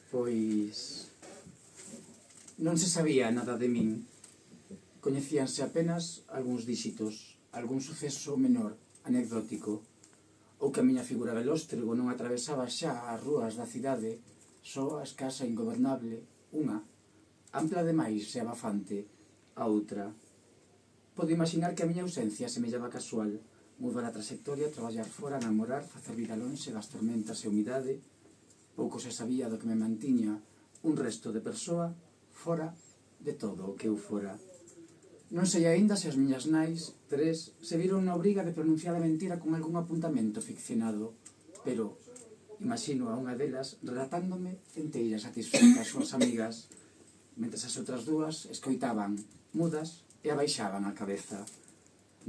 Pois non se sabía nada de min. Coñecíanse apenas algúns díxitos, algún suceso menor, anecdótico, ou que a miña figura velóstrego non atravesaba xa as rúas da cidade, só a escasa e ingobernable, unha, ampla demais e abafante, a outra. Podo imaginar que a miña ausencia semellaba casual, mudar a trayectoria, traballar fora, namorar, facer vida lonxe das tormentas e humidade. Pouco se sabía do que me mantiña un resto de persoa fora de todo o que eu fora. Non sei aínda se as miñas nais, tres, se viron na obriga de pronunciar a mentira con algún apuntamento ficcionado, pero imagino a unha delas relatándome enteira satisfeita as súas amigas, mentre as outras dúas escoitaban, mudas, e abaixaban a cabeza.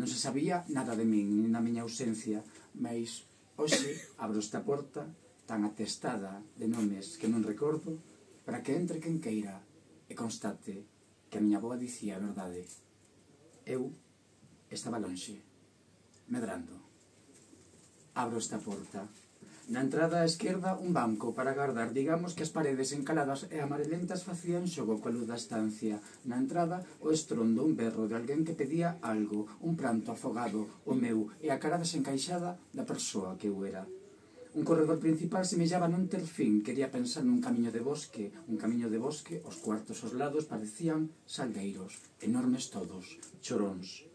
Non se sabía nada de min, nin da miña ausencia, mas hoxe abro esta porta tan atestada de nomes que non recordo, para que entre quen queira e constate que a miña avoa dicía a verdade. Eu estaba lonxe, medrando. Abro esta porta. Na entrada á esquerda un banco para agardar, digamos que as paredes encaladas e amarelentas facían xogo coa luz da estancia. Na entrada o estrondo, un berro de alguén que pedía algo, un pranto afogado, o meu, e a cara desencaixada da persoa que eu era. Un corredor principal semellaba non ter fin, quería pensar nun camiño de bosque, os cuartos aos lados parecían salgueiros, enormes todos, choróns.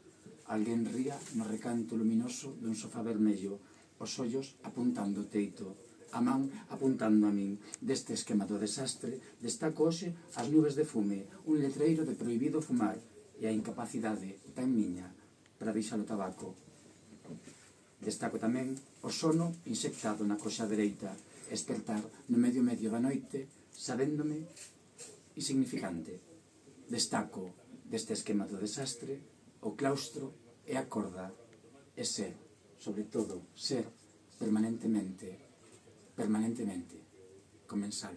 Alguén ría no recanto luminoso dun sofá vermello, os ollos apuntando o teito, a man apuntando a min. Deste esquema do desastre destaco hoxe as nubes de fume, un letreiro de prohibido fumar e a incapacidade tan miña para deixar o tabaco. Destaco tamén o sono insectado na coxa dereita, espertar no medio da noite, sabéndome insignificante. Destaco deste esquema do desastre o claustro e a corda, e ser, sobre todo, ser permanentemente comensal.